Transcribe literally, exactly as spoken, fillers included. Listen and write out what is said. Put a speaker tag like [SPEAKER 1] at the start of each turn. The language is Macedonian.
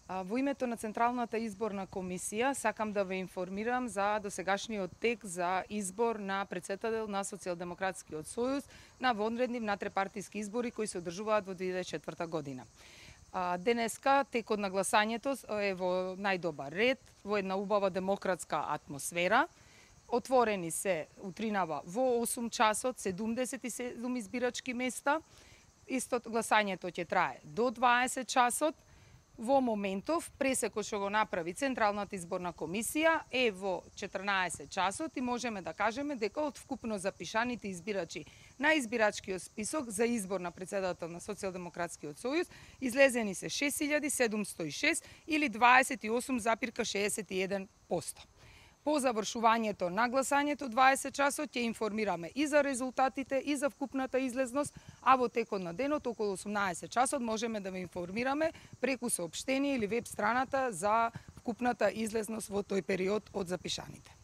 [SPEAKER 1] Во името на Централната изборна комисија сакам да ве информирам за досегашниот тек за избор на претседател на Социјалдемократскиот сојуз на вонредни внатрепартиски избори кои се одржуваат во две илјади и четврта година. Денеска текот на гласањето е во најдобар ред, во една убава демократска атмосфера. Отворени се утринава во осум часот седумдесет и седум избирачки места. Исто гласањето ќе трае до дваесет часот. Во моментов, пресекот што го направи Централната изборна комисија е во четрнаесет часот и можеме да кажеме дека од вкупно запишаните избирачи на избирачкиот список за избор на претседател на Социјалдемократскиот сојуз излезени се шест илјади седумсто и шест или дваесет и осум запирка шеесет и еден проценти. По завршувањето на гласањето дваесет часот ќе информираме и за резултатите и за вкупната излезност, а во текот на денот околу осумнаесет часот можеме да ве информираме преку соопштение или веб страната за вкупната излезност во тој период од запишаните.